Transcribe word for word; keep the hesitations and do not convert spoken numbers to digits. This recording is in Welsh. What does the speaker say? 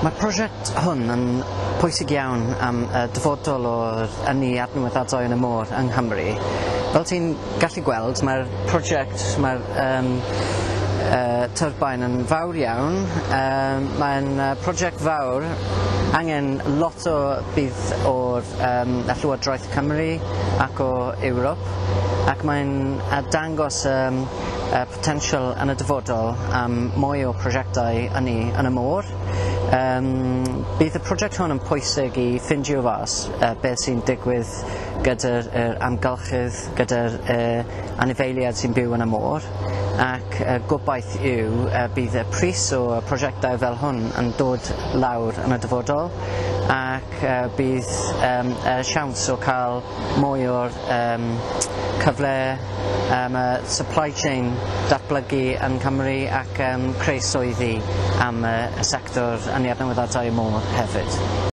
Mae'r prosiect hwn yn pwysig iawn am y dyfodol o'r ynni adnewyddadwy yn y môr yng Nghymru. Fel ti'n gallu gweld, mae'r prosiect, mae'r um, uh, turbine yn fawr iawn. Um, mae'n uh, prosiect fawr, angen lot o budd o'r um, Llywodraeth Cymru ac o Ewrop, ac mae'n uh, dangos um, uh, potensial yn y dyfodol am mwy o prosiectau ynni yn y môr. Um, bydd y prosiect hwn yn pwysig i ffindio fas uh, beth sy'n digwydd gyda'r er amgylchydd, gyda'r uh, anifeiliaid sy'n byw yn y môr, ac uh, gobaith yw uh, bydd y pris o prosiectau fel hwn yn dod lawr yn y dyfodol ac uh, bydd um, uh, siawns o cael mwy o'r um, cyfle um, y supply chain datblygu yn Cymru ac um, creu swyddi am y, y sector ynni adnewyddadwy y môr hefyd.